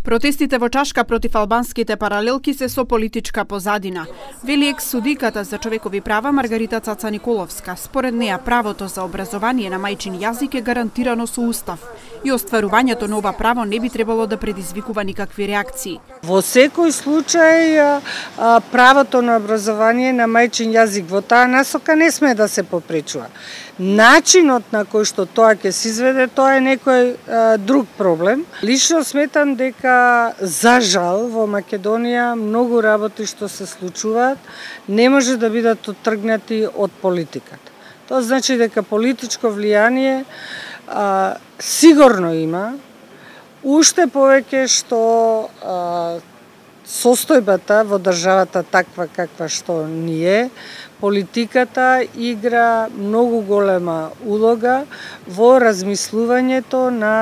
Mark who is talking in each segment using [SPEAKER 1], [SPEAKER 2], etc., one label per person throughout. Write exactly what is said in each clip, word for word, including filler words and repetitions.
[SPEAKER 1] Протестите во Чашка против албанските паралелки се со политичка позадина, вели екс-судиката за човекови права Маргарита Цаца Николовска. Според неа, правото за образование на мајчин јазик е гарантирано со устав и остварувањето на ова право не би требало да предизвикува никакви реакции.
[SPEAKER 2] Во секој случај правото на образование на мајчин јазик во таа насока не сме да се попречува. Начинот на кој што тоа ќе се изведе, тоа е некој а, друг проблем. Лично сметам дека за жал во Македонија многу работи што се случуваат не може да бидат оттргнати од политиката. Тоа значи дека политичко влијание а, сигурно има, уште повеќе што а, состојбата во државата таква каква што ни е, политиката игра многу голема улога во размислувањето на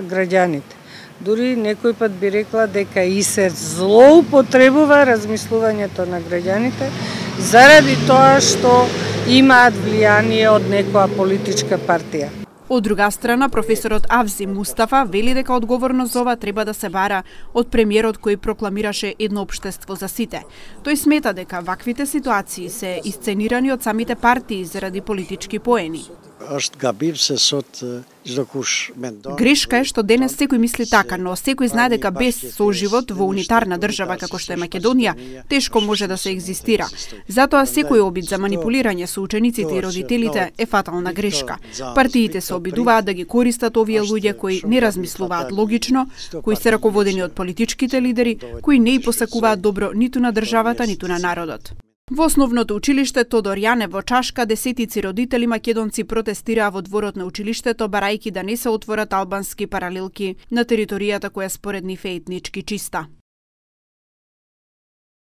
[SPEAKER 2] граѓаните. Дури некој пат би рекла дека и се злоупотребува размислувањето на граѓаните заради тоа што имаат влијание од некоја политичка партија.
[SPEAKER 1] Од друга страна, професорот Авзи Мустафа вели дека одговорност за ова треба да се бара од премиерот кој прокламираше едно општество за сите. Тој смета дека ваквите ситуации се исценирани од самите партии заради политички поени. Грешка е што денес секој мисли така, но секој знае дека без соживот во унитарна држава како што е Македонија, тешко може да се екзистира. Затоа секој обид за манипулирање со учениците и родителите е фатална грешка. Партиите се обидуваат да ги користат овие луѓе кои не размислуваат логично, кои се раководени од политичките лидери, кои не и посакуваат добро ниту на државата, ниту на народот. Во основното училиште Тодор Јане во Чашка десетици родители македонци протестираа во дворот на училиштето барајки да не се отворат албански паралелки на територијата која според нив е етнички чиста.